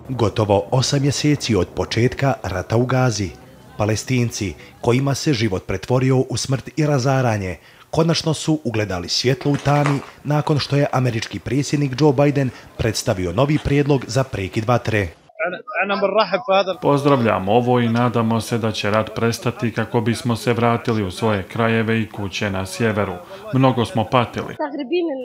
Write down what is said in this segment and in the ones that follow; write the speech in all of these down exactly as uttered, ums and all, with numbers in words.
Gotovo osam mjeseci od početka rata u Gazi, Palestinci, kojima se život pretvorio u smrt i razaranje, konačno su ugledali svjetlo u tami nakon što je američki predsjednik Joe Biden predstavio novi prijedlog za prekid vatre. Pozdravljamo ovo i nadamo se da će rat prestati kako bismo se vratili u svoje krajeve i kuće na sjeveru. Mnogo smo patili.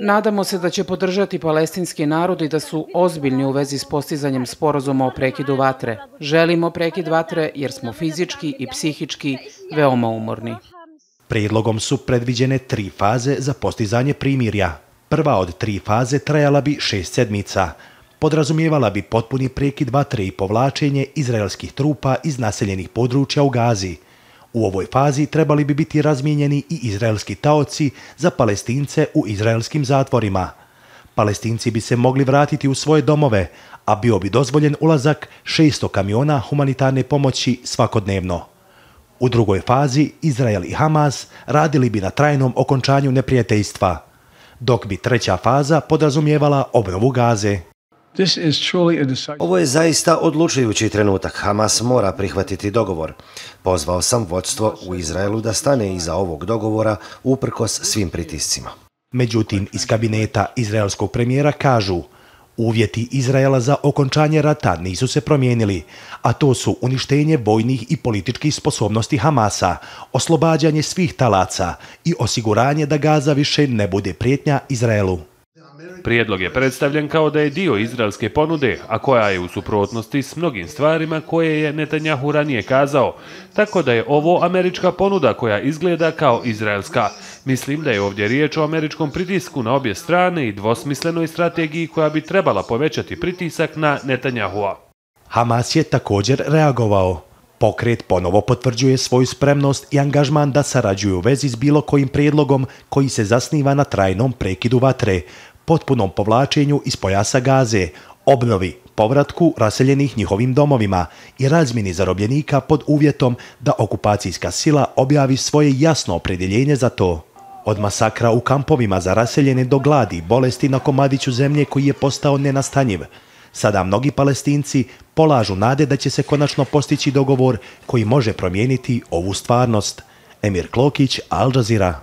Nadamo se da će podržati palestinski narod i da su ozbiljni u vezi s postizanjem sporazuma o prekidu vatre. Želimo prekid vatre jer smo fizički i psihički veoma umorni. Prijedlogom su predviđene tri faze za postizanje primirja. Prva od tri faze trajala bi šest sedmica. Podrazumijevala bi potpuni prekid vatre i povlačenje izraelskih trupa iz naseljenih područja u Gazi. U ovoj fazi trebali bi biti razmijenjeni i izraelski taoci za Palestince u izraelskim zatvorima. Palestinci bi se mogli vratiti u svoje domove, a bio bi dozvoljen ulazak šesto kamiona humanitarne pomoći svakodnevno. U drugoj fazi Izrael i Hamas radili bi na trajnom okončanju neprijateljstva, dok bi treća faza podrazumijevala obnovu Gaze. Ovo je zaista odlučujući trenutak. Hamas mora prihvatiti dogovor. Pozvao sam vodstvo u Izraelu da stane iza ovog dogovora uprkos svim pritiscima. Međutim, iz kabineta izraelskog premijera kažu: uvjeti Izraela za okončanje rata nisu se promijenili, a to su uništenje vojnih i političkih sposobnosti Hamasa, oslobađanje svih talaca i osiguranje da Gaza više ne bude prijetnja Izraelu. Prijedlog je predstavljen kao da je dio izraelske ponude, a koja je u suprotnosti s mnogim stvarima koje je Netanjahu ranije kazao, tako da je ovo američka ponuda koja izgleda kao izraelska. Mislim da je ovdje riječ o američkom pritisku na obje strane i dvosmislenoj strategiji koja bi trebala povećati pritisak na Netanjahua. Hamas je također reagovao. Pokret ponovo potvrđuje svoju spremnost i angažman da sarađuju u vezi s bilo kojim prijedlogom koji se zasniva na trajnom prekidu vatre, potpunom povlačenju iz pojasa Gaze, obnovi, povratku raseljenih njihovim domovima i razmjeni zarobljenika pod uvjetom da okupacijska sila objavi svoje jasno opredjeljenje za to. Od masakra u kampovima za raseljene do gladi i bolesti na komadiću zemlje koji je postao nenastanjiv, sada mnogi Palestinci polažu nade da će se konačno postići dogovor koji može promijeniti ovu stvarnost. Emir Klokić, Al Jazeera.